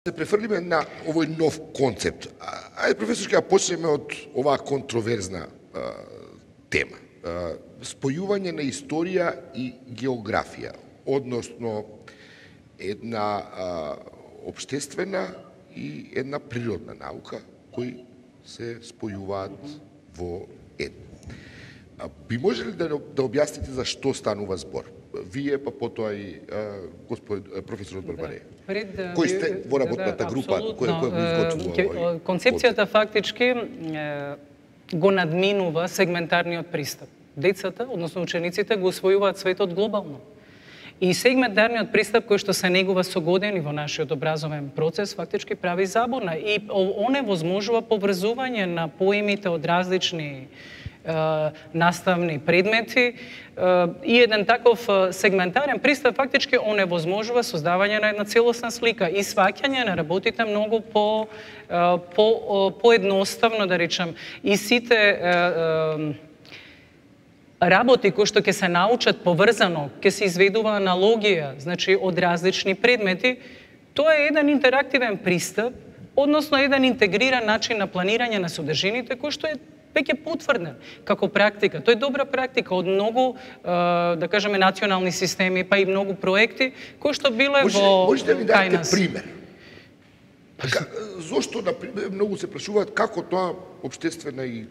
се префрлиме на овој нов концепт. Ајде, професор, ќе почнеме од оваа контроверзна тема. Спојување на историја и географија, односно една општествена и една природна наука кои се спојуваат во едно. Би можеле да објасните за што станува збор? Вие, па потоа и професорот Барбаре. Кои сте во работната група која го изготвува? Концепцијата фактички го надминува сегментарниот пристап. Децата, односно учениците, го усвојуваат светот глобално. И сегментарниот пристап кој што се негува со години во нашиот образовен процес фактички прави забуна и оневозможува поврзување на поимите од различни наставни предмети и еден таков сегментарен пристап фактички оневозможува создавање на една целосна слика и сваќање на работите многу поедноставно, да речам, и сите работи кои што ќе се научат поврзано, ќе се изведува аналогија, значи од различни предмети, тоа е еден интерактивен пристап, односно еден интегриран начин на планирање на содржините кој што е веќе потврден како практика. Тоа е добра практика од многу, да кажеме, национални системи, па и многу проекти кои што биле во Можете ли да дадете пример? Зошто, например, многу се прашуваат како тоа општествена и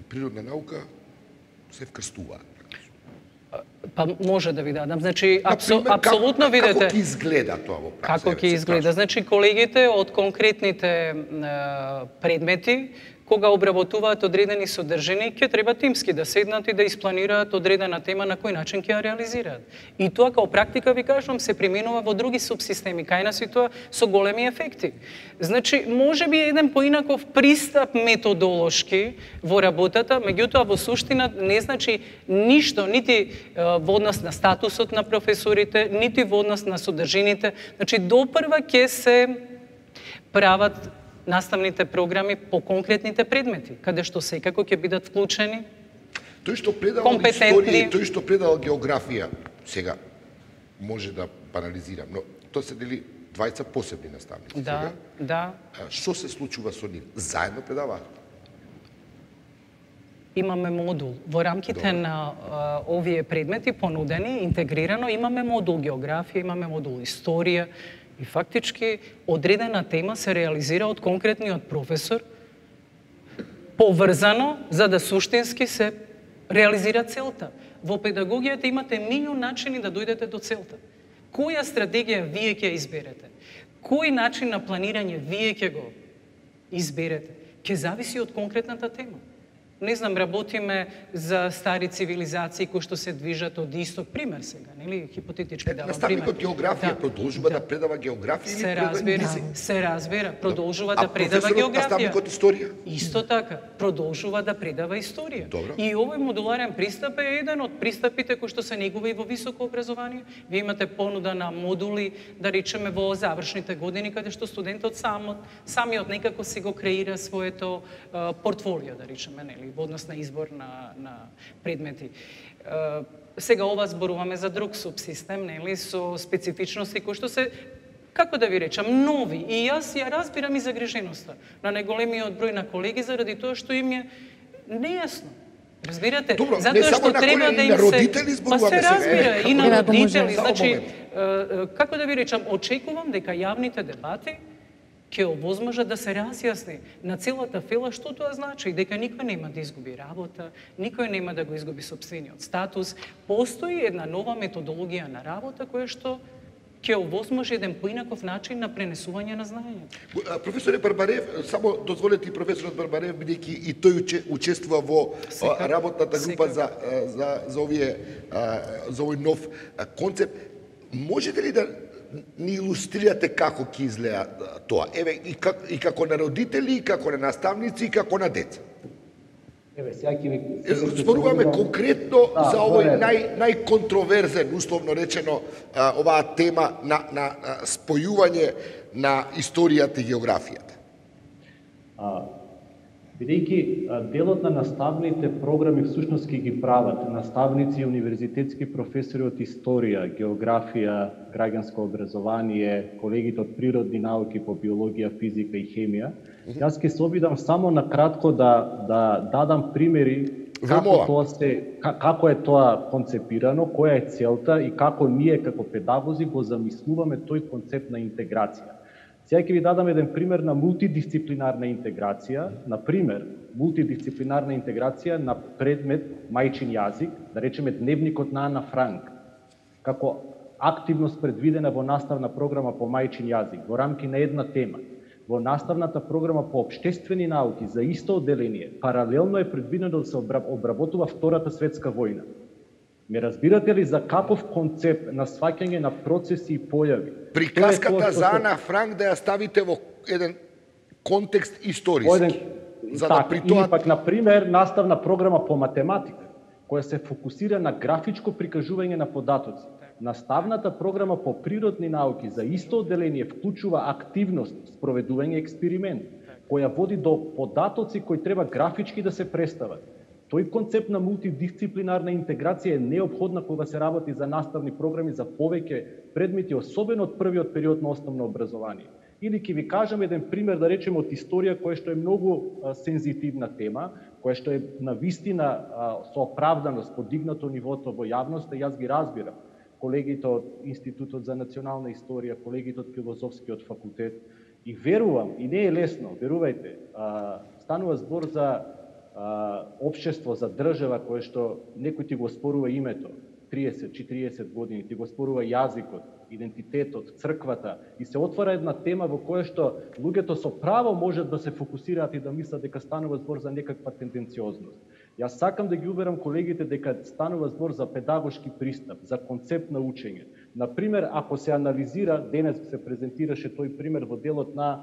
природна наука се вкрстуваат? Па може да ви дадам. Значи, апсолутно видите... Како ќе изгледа тоа во пракса? Како ќе изгледа? Значи, колегите од конкретните предмети, кога обработуваат одредени содржини, ќе треба тимски да седнат и да испланираат одредена тема на кој начин ќе ја реализираат. И тоа као практика, ви кажам, се применува во други субсистеми, кај нас и тоа со големи ефекти. Значи, може би еден поинаков пристап методолошки во работата, меѓутоа во суштина не значи ништо, нити во однос на статусот на професорите, нити во однос на содржините. Значи, допрва ќе се прават наставните програми по конкретните предмети, каде што секако ќе бидат вклучени тој што предавал историја и тој што предавал географија, сега може да парализирам, но тоа се дели двајца посебни наставници. Да, да. Што се случува со нив? Заедно предаваат? Имаме модул. Во рамките на овие предмети понудени, интегрирано, имаме модул географија, имаме модул историја, и фактички одредена тема се реализира од конкретниот професор поврзано за да суштински се реализира целта. Во педагогијата имате милион начини да дојдете до целта. Која стратегија вие ќе изберете? Кој начин на планирање вие ќе го изберете? Ќе зависи од конкретната тема. Не знам, работиме за стари цивилизации кои што се движат од исток, пример сега, нели, хипотетички давам пример. Наставникот географија продолжува да предава географија или се разбира, продолжува да предава географија. Наставникот историја? Исто така, продолжува да предава историја. Добро. И овој модуларен пристап е еден од пристапите кои што се негува и во високо образование. Вие имате понуда на модули, да речеме во завршните години, каде што студентот самиот некако си го креира своето портфолио, да речеме, нели, во однос на избор на предмети. Сега ова зборуваме за друг субсистем, нели, со специфичности кои што се, како да ви речам, нови. И јас ја разбирам и загриженоста на неголемиот број на колеги заради тоа што им е нејасно. Разбирате? Добро, затоа што треба да им се... родители зборуваме се разбира, и на родители. Значи, како да ви речам, очекувам дека јавните дебати ќе овозможа да се разјасни на целата фела што тоа значи, дека никој нема да изгуби работа, никој нема да го изгуби сопствениот статус. Постои една нова методологија на работа која што ќе овозможи еден поинаков начин на пренесување на знаење. Професоре Барбарев, само дозволете и професорот Барбарев, бидејќи и тој учествува во работната група за овој нов концепт, можете ли да ни илустрирате како ќе изгледа тоа? Еве, и како на родители, и како на наставници, и како на деца. Еве, сега ќе ви... Зборуваме конкретно за овој најконтроверзен, условно речено, оваа тема на спојување на историјата и географијата. Бидејќи делот на наставните програми всушност ќе ги прават наставници и универзитетски професори од историја, географија, граѓанско образование, колегите од природни науки по биологија, физика и хемија. Јас ќе се обидам само на кратко да дадам примери како е тоа концепирано, која е целта и како ние како педагози го замислуваме тој концепт на интеграција. Сега ќе ви дадам еден пример на мултидисциплинарна интеграција, например, мултидисциплинарна интеграција на предмет мајчин јазик, да речеме дневникот на Ана Франк, како активност предвидена во наставна програма по мајчин јазик, во рамки на една тема. Во наставната програма по општествени науки за исто одделение, паралелно е предвидено да се обработува Втората светска војна. Ме разбирате ли за каков концепт на сваќање на процеси и појави? Приказката за Ана Франк да ја ставите во еден контекст историски. За да при тоа... Или пак, например, наставна програма по математика, која се фокусира на графичко прикажување на податоци. Наставната програма по природни науки за исто одделение вклучува активност, спроведување експеримент, која води до податоци кои треба графички да се представат. Тој концепт на мултидисциплинарна интеграција е неопходна кога се работи за наставни програми за повеќе предмети, особено од првиот период на основно образование. Или ќе ви кажам еден пример, да речеме од историја, која што е многу сензитивна тема, која што е навистина со оправданост подигнато нивото во јавноста, јас ги разбирам. Колегите од Институтот за национална историја, колегите од Филозофскиот факултет, и верувам, и не е лесно, верувајте, станува збор за општество, за држава која што некој ти го спорува името 30-40 години, ти го спорува јазикот, идентитетот, црквата, и се отвора една тема во која што луѓето со право можат да се фокусираат и да мислат дека станува збор за некаква тенденциозност. Јас сакам да ги уверам колегите дека станува збор за педагошки пристап, за концепт на учење. Например, ако се анализира, денес се презентираше тој пример во делот на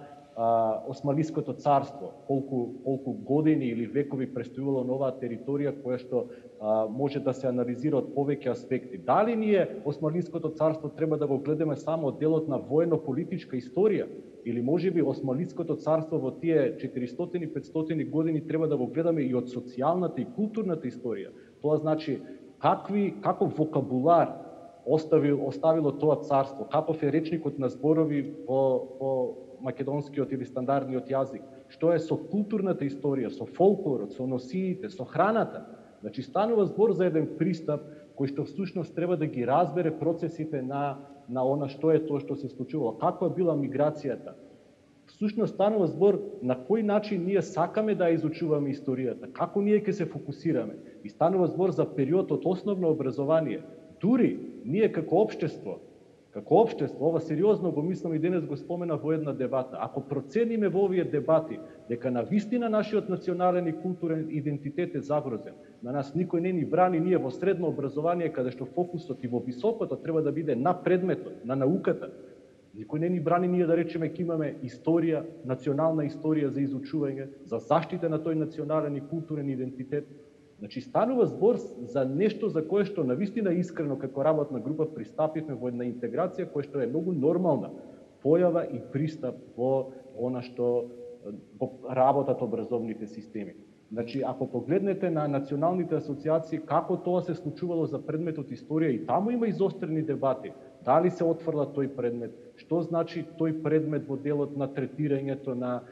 Османлиското царство, колку години или векови престојувало на оваа територија која што може да се анализира од повеќе аспекти. Дали ние Османлиското царство треба да го гледаме само од делот на воено-политичка историја, или можеби Османлиското царство во тие 400-500 години треба да го гледаме и од социјалната и културната историја? Тоа значи каков вокабулар оставило тоа царство, каков е речникот на зборови по македонскиот или стандардниот јазик, што е со културната историја, со фолклорот, со носиите, со храната. Значи, станува збор за еден пристап кој што всушност треба да ги разбере процесите на она што е тоа што се случувало, каква била миграцијата. Всушност станува збор на кој начин ние сакаме да изучуваме историјата, како ние ќе се фокусираме. И станува збор за период од основно образование. Дури ние како општество, ова сериозно го мислам и денес го спомена во една дебата. Ако процениме во овие дебати дека навистина нашиот национален и културен идентитет е загрозен, на нас никој не ни брани, ние во средно образование, каде што фокусот и во високото треба да биде на предметот, на науката, никој не ни брани ние да речеме ќе имаме историја, национална историја за изучување, за заштита на тој национален и културен идентитет. Значи, станува збор за нешто за кое што навистина искрено како работна група пристапивме во една интеграција која што е многу нормална појава и пристап во она што во работата образовните системи. Значи, ако погледнете на националните асоциации како тоа се случувало за предметот историја, и таму има изострени дебати. Дали се отфрла тој предмет? Што значи тој предмет во делот на третирањето на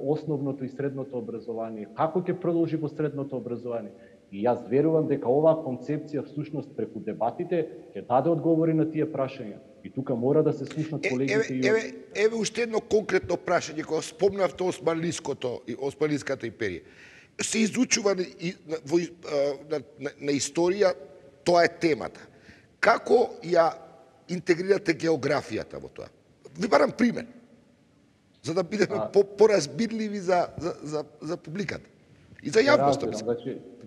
основното и средното образование? Како ќе продолжи во средното образование? И јас верувам дека оваа концепција всушност преку дебатите ќе даде одговори на тие прашања. И тука мора да се слушнат колегите. Еве уште едно конкретно прашање, кога спомнавте Османлиската империја. Се изучува на историја, тоа е темата. Како ја интегрирате географијата во тоа? Ви барам пример, за да бидеме поразбирливи за публиката и за јавноста.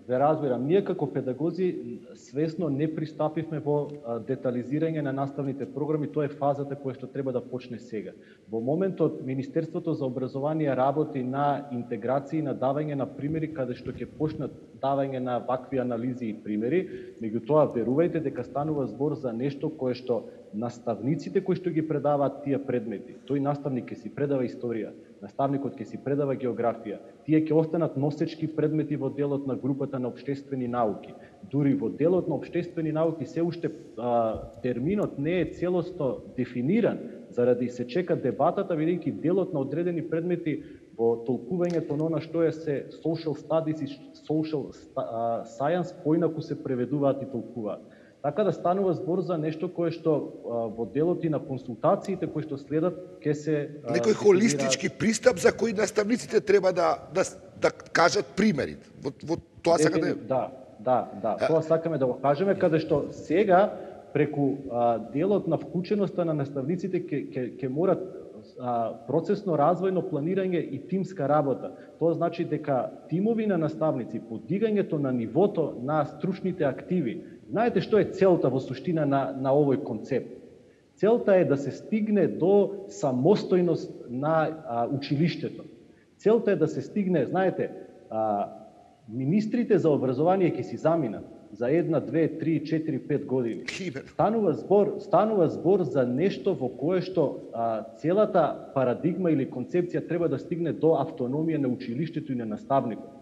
Ве разбирам, ние како педагози свесно не пристапивме во детализирање на наставните програми, тоа е фазата која што треба да почне сега. Во моментот Министерството за образование работи на интеграција и на давање на примери каде што ќе почнат давање на вакви анализи и примери, меѓутоа верувајте дека станува збор за нешто кое што наставниците кои што ги предаваат тие предмети, тој наставник ќе си предава историја, наставникот ќе си предава географија, тие ќе останат носечки предмети во делот на групата на општествени науки. Дури во делот на општествени науки се уште терминот не е целосно дефиниран, заради се чека дебатата, бидејќи делот на одредени предмети во толкувањето на она што е се social studies и social science поинаку се преведуваат и толкуваат. Така да станува збор за нешто кое што во делот и на консултациите кои што следат ќе се некој холистички пристап за кој наставниците треба да кажат примери. Во тоа сакате? Да, тоа сакаме да го кажеме, каде што сега преку делот на вклученоста на наставниците ќе морат процесно развојно планирање и тимска работа. Тоа значи дека тимови на наставници, подигањето на нивото на стручните активи. Знаете што е целта во суштина на овој концепт? Целта е да се стигне до самостојност на училиштето. Целта е да се стигне, знаете, министрите за образование ќе си заминат за 1, 2, 3, 4, 5 години. Станува збор за нешто во кое што целата парадигма или концепција треба да стигне до автономија на училиштето и на наставникот.